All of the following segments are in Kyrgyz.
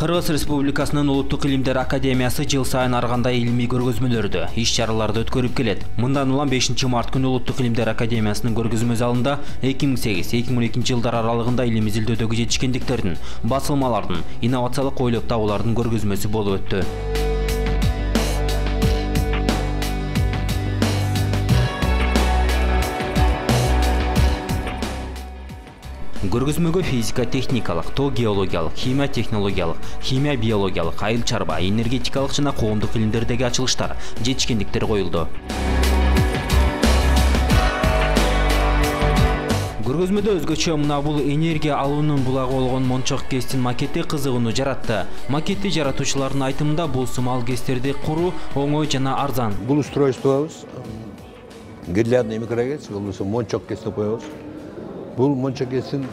Кыргыз Республикасынын Улуттук илимдер академиясы жыл сайын ар кандай илимий көргөзмөлөрдү, иш-чараларды өткөрүп келет. Мындан улам 5 март күнү Улуттук илимдер академиясынын көргөзмө залында 2008-2012 жылдар аралыгында илим изилдөөдөгү жетишкендиктердин, басылмалардын, инновациялык ойлоп табуулардын көргөзмөсү болуп өттү. Көргөзмөгө физика техникалык, тоо геологиялык, химия технологиялык, химия биологиялык, айыл чарба, энергетикалык жана коомдук илимдердеги ачылыштар, жетишкендиктер коюлду. Көргөзмөдө өзгөчө мына бул энергия алуунун булагы болгон Мончок ГЭСтин макети кызыгууну жаратты. Макетти жаратуучулардын айтымында бул сымал ГЭСтерди куруу оңой жана арзан. Бул устройствобуз гирлярдный микрогэс, болбосо Мончок ГЭС деп коебуз. Бул Мончок ГЭСтин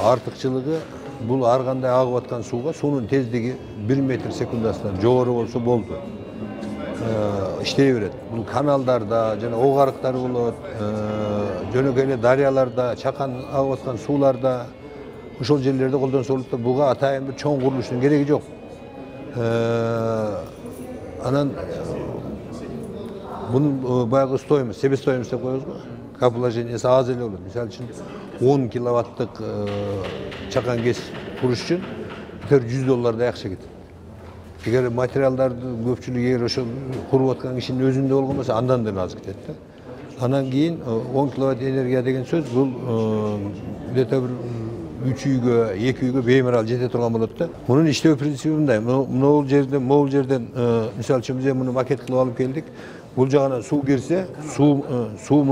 артыкчылыгы бул ар кандай агып аткан сууга суунун тездиги 1 метр секундасынан жогору болсо болду. Иштей берет. Бул каналдарда жана ок арыктар болот, жөнөкөй эле дарыяларда, чакан агып аткан сууларда ошол жерлерде колдонсо болот да, буга атайын бир чоң курулуштун кереги жок. Анан бунун баягы стоимость, себестоимость деп коебуз го. Каположениясы аз эле болот. Мисалы үчүн 10 киловаттык чакан ГЭС куруш үчүн $100 акча кетет. Эгер материалдардын көпчүлүгү эгер ошол куруп аткан кишинин өзүндө болгон болсо, андан да аз кетет да. Анан кийин 10 киловатт энергия деген сөз бул где-то бир 3 үйгө, 2 үйгө беймарал жете турган болот да. Мунун иштөө принципи мындай. Могул жерден мисалы үчүн биз муну макет кылып алып келдик. Бул жагынан суу кирсе, суу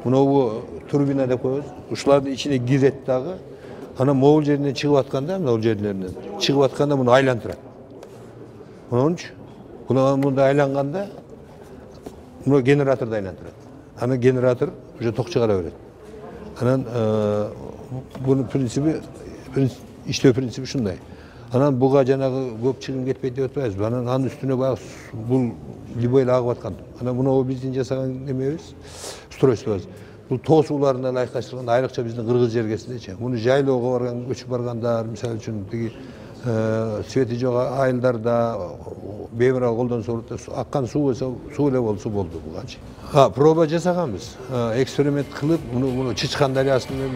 мынау турбина деп коебуз. Ушулардын ичине кирет дагы. Анан могул жеринен чыгып атканда, могул жерлеринен чыгып атканда муну айлантырат. Мынунчу мында айланганда муну генераторду айлантырат. Анан генератор уже ток чыгара берет. Анан бунун принципи, иштөө принципи ушундай. Анан буга жанагы көп чыгым кетпейт деп атпайбызбы? Анын үстүнө баягы бул любой эле агып аткан. Анан муну биздин жасаган немебиз, устройствобуз. Бул тоо сууларына ылайыкташтырганда айрыкча биздин Кыргыз жергесиндечи. Муну жайлоого барган, көчүп баргандар, мисалы үчүн тиги свети жок айылдарда беймарал колдонсо болот. Аккан суу эле болсо болду бугачы. Проба жасаганбыз. Эксперимент кылып, муну Чычкан дарыясынан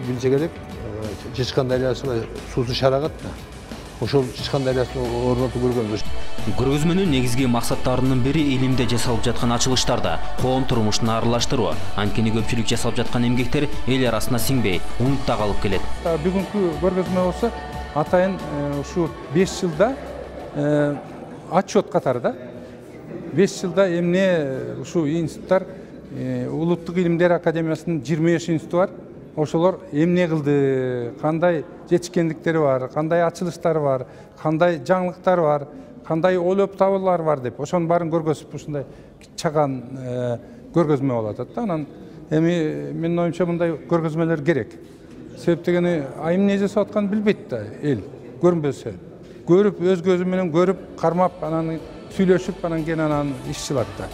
билсе керек. Чычкан дарыясына суусу шарагат да. Ошол Чычкан дарыясын орнотуп көргөнбүз. Көргөзмөнүн негизги максаттарынын бири илимде жасалып жаткан ачылыштарда коом турмушун аралаштыруу. Анткени көпчүлүк жасалып жаткан эмгектер эл арасына сиңбей, унутта калып келет. Бүгүнкү көргөзмө болсо атайын ушу 5 жылда отчет катары да. 5 жылда эмне ушу институттар Улуттук илимдер академиясынын 23 институту бар. Ошолор эмне кылды, кандай жетишкендиктери бар, кандай ачылыштары бар, кандай жаңылыктары бар, кандай ойлоп табуулар бар деп ошонун баарын көргөзүп ушундай чаган көргөзмө болуп атат да. Анан эми менин оюмча мындай көргөзмөлөр керек. Себеп дегени эмне жасап атканын билбейт да эл, көрүнбөсө. Көрүп, өз көзү менен көрүп, кармап, анан сүйлөшүп, анан кийин анан иш чыгат да.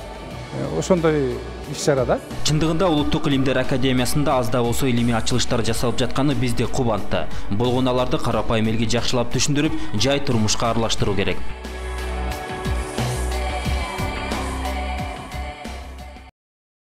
Ошондой иш-чарада. Чындыгында Улуттук илимдер академиясында аз да болсо илимий ачылыштар жасалып жатканы бизди кубантты. Болгон аларды карапайым элге жакшылап түшүндүрүп, жай турмушка аралаштыруу керек.